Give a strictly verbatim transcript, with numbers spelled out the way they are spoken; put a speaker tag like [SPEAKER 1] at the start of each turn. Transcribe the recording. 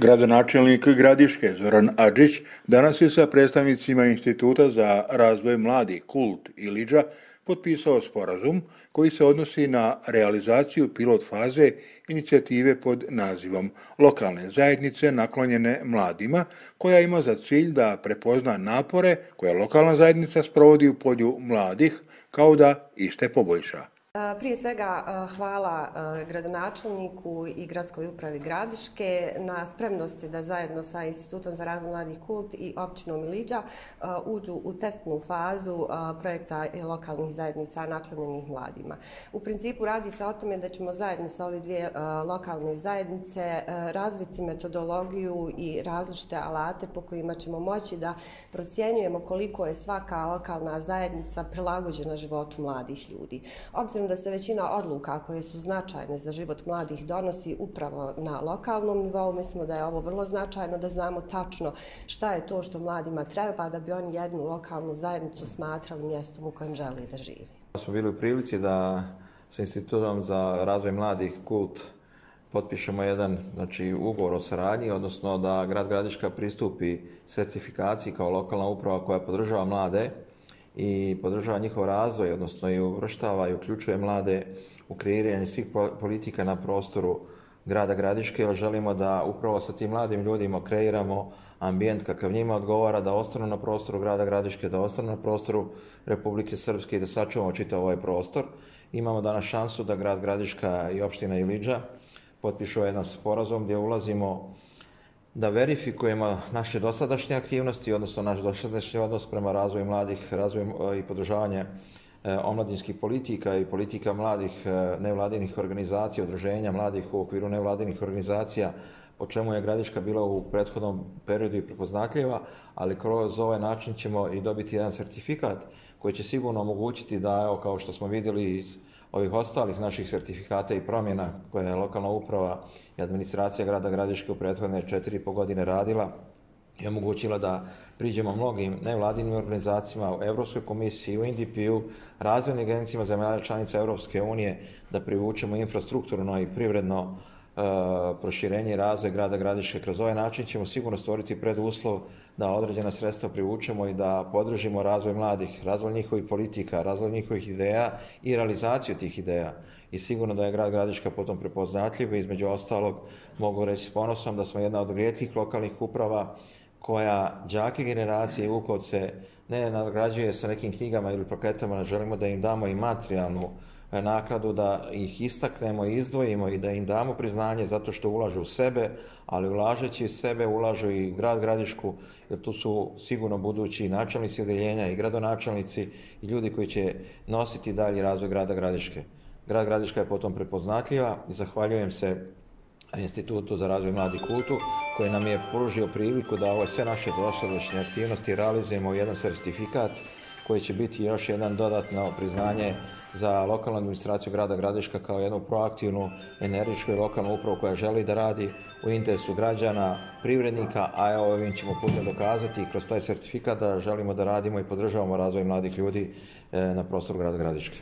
[SPEAKER 1] Gradonačelnik Gradiške Zoran Adžić danas je sa predstavnicima Instituta za razvoj mladih Kult Ilidža potpisao sporazum koji se odnosi na realizaciju pilot faze inicijative pod nazivom Lokalne zajednice naklonjene mladima, koja ima za cilj da prepozna napore koje lokalna zajednica sprovodi u polju mladih, kao da iste poboljša.
[SPEAKER 2] Prije svega hvala gradonačelniku i gradskoj upravi Gradiške na spremnosti da zajedno sa Institutom za razvoj mladih Kult i općinom Ilidža uđu u testnu fazu projekta lokalnih zajednica naklonjenih mladima. U principu radi se o tome da ćemo zajedno sa ove dvije lokalne zajednice razviti metodologiju i različite alate po kojima ćemo moći da procjenjujemo koliko je svaka lokalna zajednica prilagođena životu mladih ljudi. Obzirom da se većina odluka koje su značajne za život mladih donosi upravo na lokalnom nivou, mislimo da je ovo vrlo značajno da znamo tačno šta je to što mladima treba da bi oni jednu lokalnu zajednicu smatrali mjestom u kojem žele da živi.
[SPEAKER 3] Smo bili u prilici da sa Institutom za razvoj mladih Kult potpišemo jedan znači, ugovor o saradnji, odnosno da grad Gradiška pristupi sertifikaciji kao lokalna uprava koja podržava mlade i podržava njihov razvoj, odnosno i uvrštava i uključuje mlade u kreiranje svih politika na prostoru grada Gradiške, jer želimo da upravo sa tim mladim ljudima kreiramo ambijent kakav njima odgovara, da ostanu na prostoru grada Gradiške, da ostanu na prostoru Republike Srpske i da sačuvamo čitav ovaj prostor. Imamo danas šansu da grad Gradiška i opština Ilidža potpišu jedan sporazum gdje ulazimo da verifikujemo naše dosadašnje aktivnosti, odnosno naš dosadašnji odnos prema razvoju mladih, razvoju i podržavanje omladinskih politika i politika mladih nevladinih organizacija, udruženja mladih u okviru nevladinih organizacija, po čemu je Gradiška bila u prethodnom periodu i prepoznatljiva, ali kroz ovaj način ćemo i dobiti jedan sertifikat koji će sigurno omogućiti da, evo, kao što smo vidjeli iz ovih ostalih naših sertifikata i promjena koje je lokalna uprava i administracija grada Gradiške u prethodne četiri i po godine radila i omogućila da priđemo mnogim nevladinim organizacijama, u Europskoj komisiji, u N D P-u, razvojnim agencijama zemalja članica Europske unije, da privučemo infrastrukturno i privredno e, proširenje i razvoj grada Gradiške. Kroz ovaj način ćemo sigurno stvoriti preduslov da određena sredstva privučemo i da podržimo razvoj mladih, razvoj njihovih politika, razvoj njihovih ideja i realizaciju tih ideja. I sigurno da je grad Gradiška potom prepoznatljiv i između ostalog mogu reći s ponosom da smo jedna od rijetkih lokalnih uprava koja đake generacije i Vukovce ne nagrađuje sa nekim knjigama ili plaketama, želimo da im damo i materijalnu nakladu, da ih istaknemo i izdvojimo i da im damo priznanje zato što ulažu u sebe, ali ulažeći u sebe ulažu i grad Gradišku, jer tu su sigurno budući načelnici odeljenja i gradonačelnici i ljudi koji će nositi dalji razvoj grada Gradiške. Grad Gradiška je potom prepoznatljiva i zahvaljujem se Institutu za razvoj mladih Kultu koji nam je pružio priliku da ove sve naše dosadašnje aktivnosti realizujemo u jedan sertifikat koji će biti još jedan dodatno priznanje za lokalnu administraciju grada Gradiška kao jednu proaktivnu, energičku i lokalnu upravu koja želi da radi u interesu građana, privrednika, a evo ovim ćemo putem dokazati i kroz taj sertifikat da želimo da radimo i podržavamo razvoj mladih ljudi na prostoru grada Gradiške.